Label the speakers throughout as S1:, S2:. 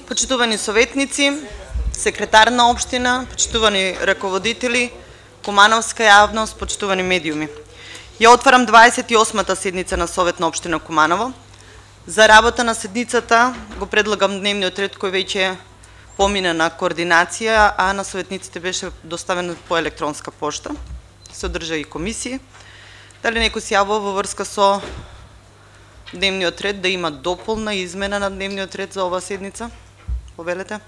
S1: Почитувани советници, секретар на општина, почитувани раководители, кумановска јавност, почитувани медиуми. Ја отварам 28-та седница на Совет на општина Куманово. За работа на седницата го предлагам дневниот ред кој веќе помина на координација, а на советниците беше доставен по електронска пошта. Се одржа и комисија. Дали некој се јавува во врска со дневниот ред да има дополна измена на дневниот ред за оваа седница? Повелете.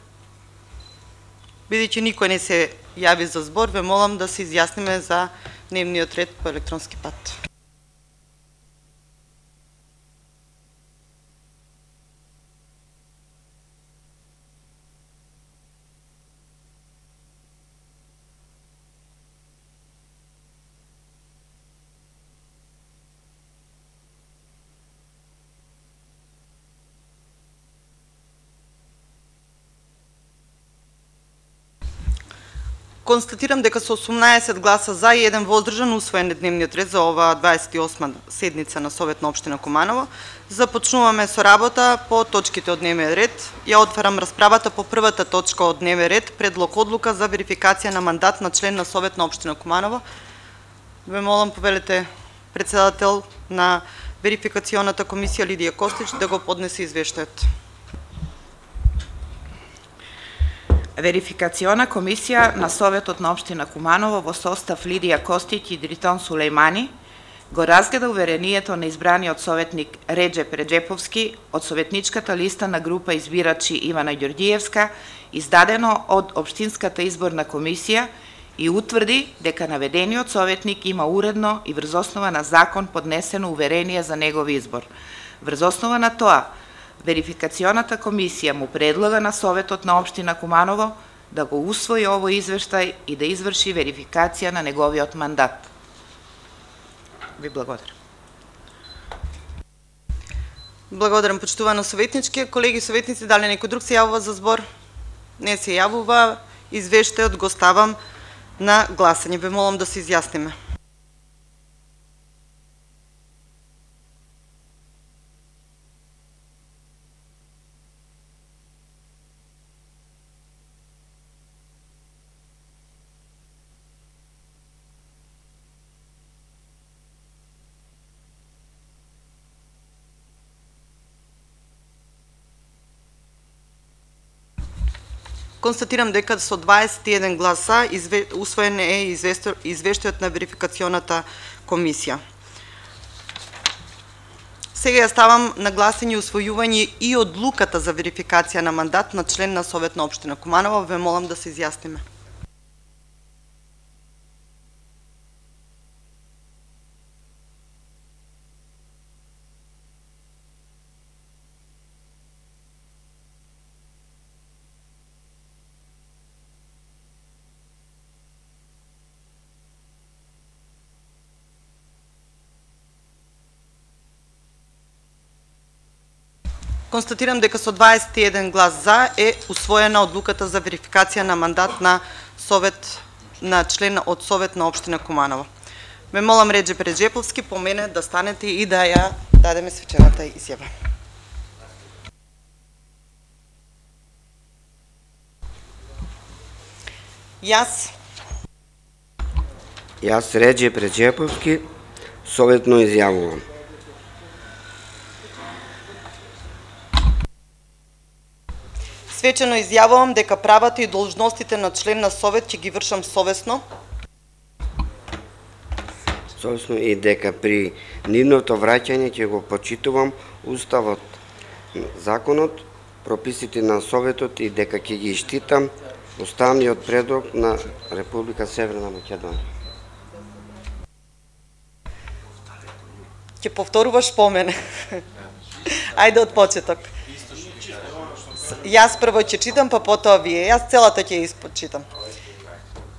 S1: Бидејќи никој не се јави за збор, ве молам да се изјасниме за дневниот ред по електронски пат. Констатирам дека со 18 гласа за и 1 воздржан усвоен е дневниот ред за оваа 28 седница на Совет на општина Куманово. Започнуваме со работа по точките од дневниот ред. Ја отварам расправата по првата точка од дневниот ред, предлог одлука за верификација на мандат на член на Совет на општина Куманово. Ве молам, повелете председател на верификационата комисија Лидија Костич да го поднесе извештајот.
S2: Верификациона комисија на Советот на општина Куманово во состав Лидија Костич и Дритон Сулејмани го разгледа уверението на избраниот советник Реджеп Реджеповски од советничката листа на група избирачи Ивана Ѓорѓиевска, издадено од Општинската изборна комисија и утврди дека наведениот советник има уредно и врз основа на закон поднесено уверение за негов избор. Врз основа на тоа, Верификационата комисија му предлага на Советот на општина Куманово да го усвои овој извештај и да изврши верификација на неговиот мандат. Ви благодарам.
S1: Благодарам, почитувано советнички. Колеги советници, дали некој друг се јавува за збор? Не се јавува. Извештајот го ставам на гласање. Ве молам да се изјасниме. Констатирам дека со 21 гласа усвоен е извештајот на верификационата комисија. Сега ја ставам на гласање усвојување и одлуката за верификација на мандат на член на Совет на општина Куманово. Ве молам да се изјасниме. Констатирам дека со 21 глас за е усвоена одлуката за верификација на мандат на член од Совет на општина Куманово. Ме молам Реджеп Реджеповски по мене да станете и да ја дадеме свечената изјава.
S3: Јас Реджеп Реджеповски советно изјавувам.
S1: Свечено изјавувам дека правата и должностите на член на Совет ќе ги вршам совесно.
S3: Совесно и дека при нивното враќање ќе го почитувам Уставот, законот, прописите на Советот и дека ќе ги штитам уставниот предлог на Република Северна Македонија.
S1: Ќе повторуваш по мене. Ајде од почеток. Јас прво ќе читам, па потоа вие. Јас целата ќе ја испочитам.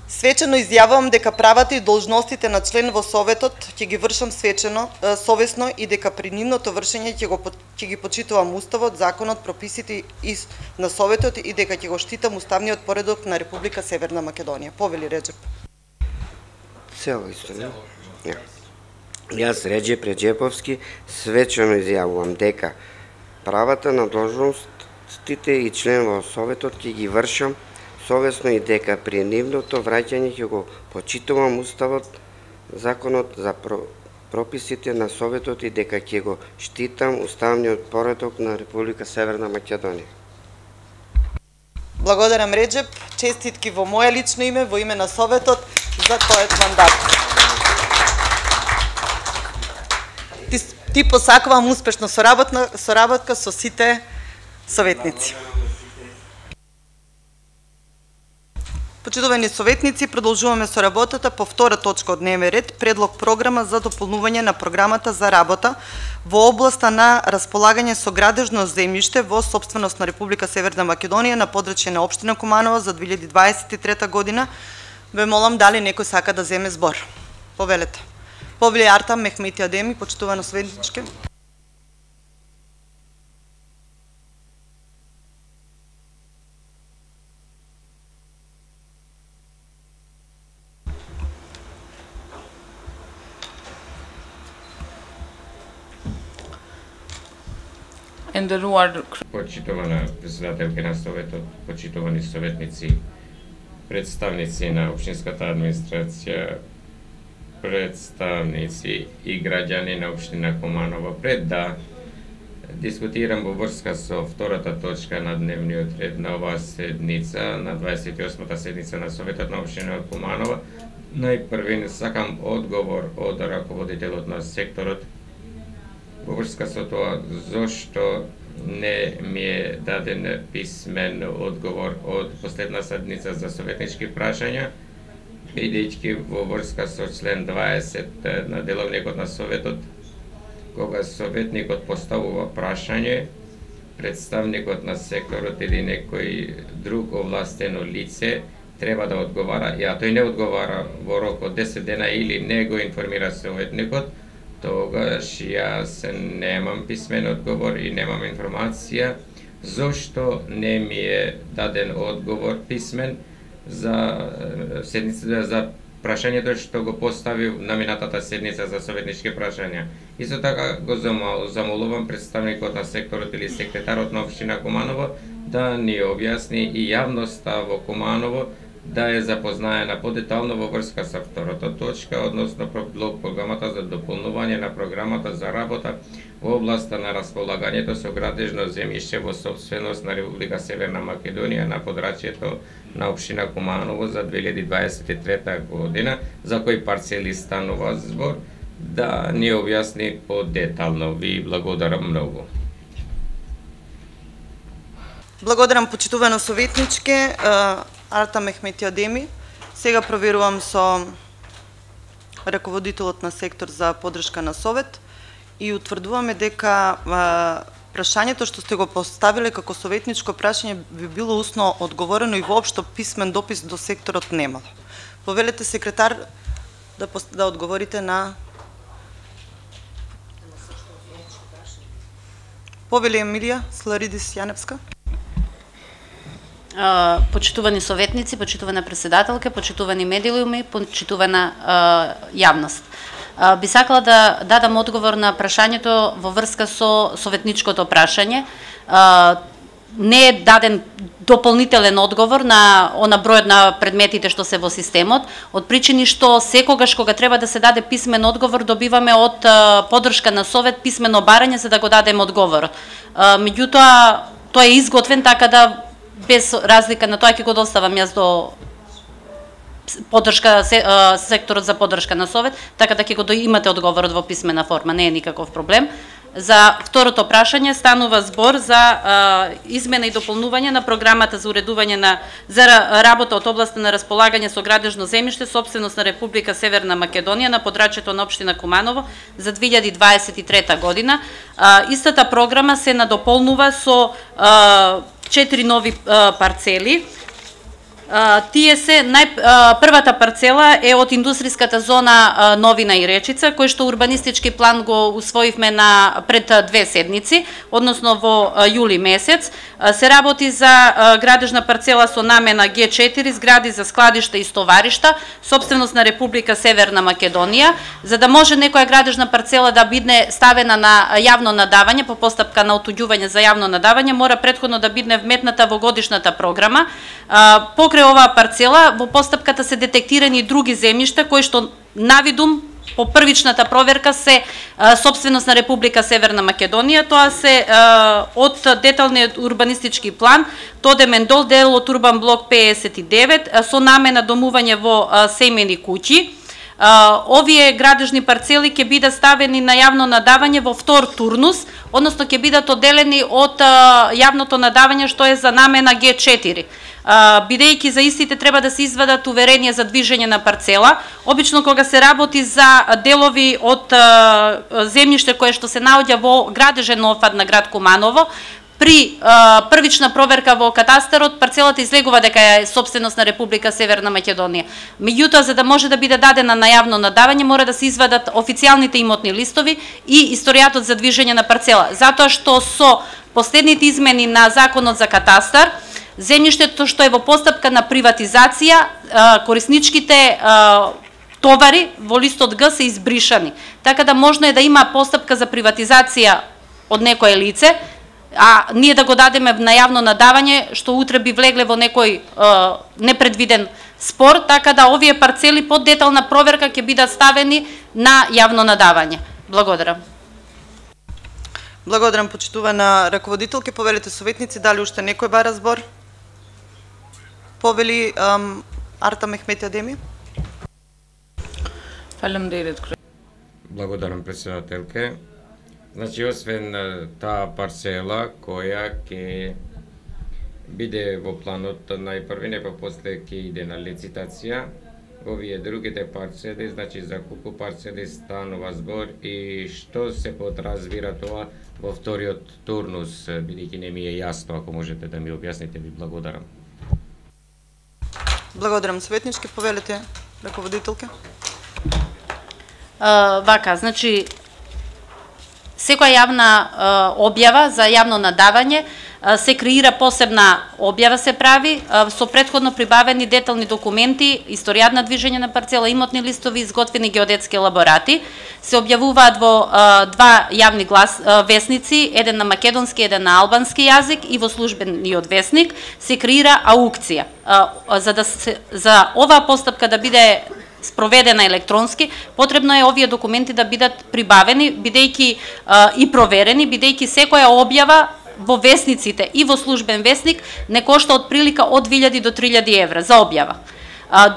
S1: Свечено изјавувам дека правата и должностите на член во Советот ќе ги вршам совесно и дека при нивното вршење ќе ги почитувам Уставот, законот, прописите на Советот и дека ќе го штитам уставниот поредок на Република Северна Македонија. Повели Реджеп.
S3: Цела историја. Јас Реджеп Реджеповски свечено изјавувам дека правата на должност длъжностите и член во Советот ќе ги вршам совесно и дека при нивното враќање ќе го почитувам Уставот, законот за прописите на Советот и дека ќе го штитам уставниот поредок на Република Северна Македонија.
S1: Благодарам, Реджеп. Честитки во моје лично име, во име на Советот за тојот мандат. Ти посакувам успешна соработка со сите советници. Почитувани советници, продолжуваме со работата по втора точка од дневен ред, предлог програма за дополнување на програмата за работа во областа на располагање со градежно земјиште во сопственост на Република Северна Македонија на подрачје на општина Куманово за 2023 година. Ве молам дали некој сака да земе збор. Повелете. Повели Артам Мехмети Адеми, почитувано советничке.
S4: Почитувана председателка на Советот, почитувани советници, представници на општинската администрација, представници и граѓани на општина Куманово, пред да дискутирам во врска со втората точка на дневниот ред на оваа седница, на 28-та седница на Советот на општина Куманово, најпрвен сакам одговор од раководителот на секторот во врска со тоа зошто не ми е даден писмен одговор од последна седница за советнички прашања, бидејќи во врска со член 20 на деловникот на Советот, кога советникот поставува прашање, представникот на секторот или некој друг овластено лице треба да одговара, а тој не одговара во рок од 10 дена или не го информира советникот, тогаш јас немам писмен одговор и немам информација зошто не ми е даден одговор писмен за седницата за прашањето што го поставив на минатата седница за советнички прашања. Исто така го замолувам представникот на секторот или секретарот на општина Куманово да ни објасни и јавноста во Куманово да е запознаена подетално во врска со втората точка, односно предлог програмата за дополнување на програмата за работа во областа на располагањето со градежно земјиште во сопственост на Република Северна Македонија на подрачјето на општина Куманово за 2023 година, за кои парцели станува збор, да ни објасни подетално. Ви благодарам многу.
S1: Благодарам, почитувано советничке. Арта Мехмети Адеми. Сега проверувам со раководителот на сектор за поддршка на Совет и утврдуваме дека прашањето што сте го поставиле како советничко прашање би било усно одговорено и воопшто писмен допис до секторот немало. Повелете секретар да одговорите на Повели Емилија Сларидис Јаневска.
S5: Почитувани советници, почитувана председателка, почитувани медиуми, почитувана јавност. Би сакала да дадам одговор на прашањето во врска со советничкото прашање. Не е даден дополнителен одговор на бројот на предметите што се во системот, од причини што секогаш кога треба да се даде писмен одговор, добиваме од поддршка на Совет писмено барање за да го дадем одговор. Меѓутоа, тоа е изготвен така да без разлика на тоа ќе го доставам јас до поддршка секторот за поддршка на Совет, така да ќе го имате одговорот во писмена форма, не е никаков проблем. За второто прашање станува збор за измена и дополнување на програмата за уредување за работа од областа на располагање со градежно земјиште, сопственост на Република Северна Македонија на подрачјето на општина Куманово за 2023 година. Истата програма се надополнува со 4 нови парцели Тие се првата парцела е од индустријската зона Новина и Речица, кој што урбанистички план го усвоивме пред 2 седмици, односно во јули месец. Се работи за градежна парцела со намена Г4, згради за складишта и стоваришта, собственост на Република Северна Македонија, за да може некоја градежна парцела да биде ставена на јавно надавање по постапка на отуѓување за јавно надавање, мора претходно да биде вметната во годишната програма. Покрај оваа парцела во постапката се детектирани други земјишта кои што навидум по првичната проверка се собственост на Република Северна Македонија. Тоа се од деталниот урбанистички план Тодемендол, дел од Урбан блок 59 со намена домување во семејни куќи. Овие градежни парцели ќе бидат ставени на јавно надавање во втор турнус, односно ќе бидат одделени од јавното надавање што е за намена Г4. Бидејќи за истите треба да се извадат уверенија за движење на парцела. Обично кога се работи за делови од земјиште кое што се наоѓа во градежен офат на град Куманово, при првична проверка во катастарот, парцелата излегува дека е собственост на Република Северна Македонија. Меѓутоа, за да може да биде дадена на јавно надавање, мора да се извадат официјалните имотни листови и историјатот за движење на парцела. Затоа што со последните измени на Законот за катастар, земјиштето што е во постапка на приватизација, корисничките товари во листот Г се избришани. Така да можно е да има постапка за приватизација од некое лице, а ние да го дадеме на јавно надавање, што утре би влегле во некој непредвиден спор, така да овие парцели под детална проверка ќе бидат ставени на јавно надавање. Благодарам.
S1: Благодарам, почитувана раководителке. Повелите советници, дали уште некој бара збор? Повели Арта Мехмети Адеми.
S4: Благодарам, председателке. Значи, освен таа парцела која ќе биде во планот најпрви, не после ќе иде на лицитација, овие другите парцели, значи за колку парцели станува збор и што се подразбира тоа во вториот турнус, бидејќи не ми е јасно, ако можете да ми објасните, ви благодарам.
S1: Благодарам, советнички. Повелете раководителке.
S5: Вака, значи секоја јавна објава за јавно надавање се креира посебна објава се прави со претходно прибавени детални документи, историјат на движење на парцела, имотни листови, изготвени геодетски елаборати. Се објавуваат во 2 јавни весници, еден на македонски, еден на албански јазик и во службениот весник се креира аукција. За оваа постапка да биде спроведена електронски, потребно е овие документи да бидат прибавени, бидејќи и проверени, бидејќи секоја објава во весниците и во службен весник не кошта од прилика од 2000 до 3000 евра за објава.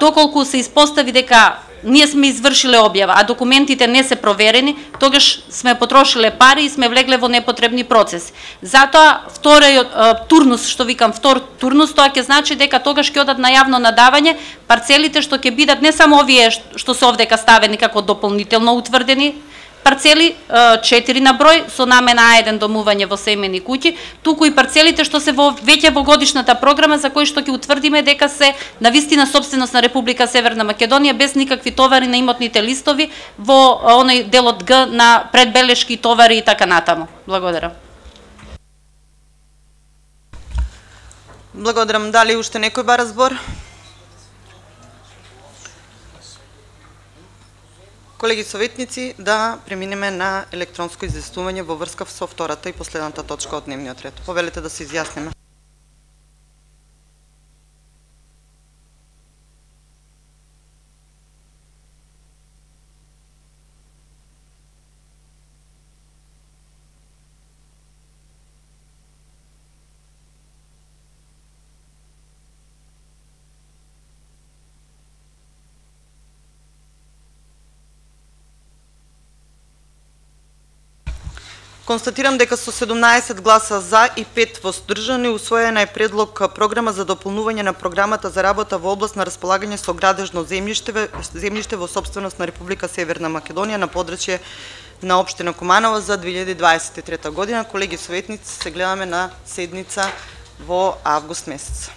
S5: Доколку се испостави дека ние сме извршиле објава, а документите не се проверени, тогаш сме потрошиле пари и сме влегле во непотребни процеси. Затоа вториот турнус, што викам втор турнус, тоа ќе значи дека тогаш ќе одат на јавно надавање парцелите што ќе бидат не само овие што се овдека ставени како дополнително утврдени парцели, 4 на број, со намена А1 домување во семејни куќи, туку и парцелите што се веќе во годишната програма за кои што ќе утврдиме дека се навистина собственост на Република Северна Македонија без никакви товари на имотните листови во оној делот Г на предбелешки товари и така натаму. Благодарам.
S1: Благодарам. Дали уште некој бара збор? Колеги советници, да преминеме на електронско известување во врска со втората и последната точка од дневниот ред. Повелете да се изјасниме. Констатирам дека со 17 гласа за и 5 воздржани усвоена е предлог програма за дополнување на програмата за работа во област на располагање со градежно земјиште во собственост на Република Северна Македонија на подрачје на општина Куманово за 2023 година. Колеги советници, се гледаме на седница во август месец.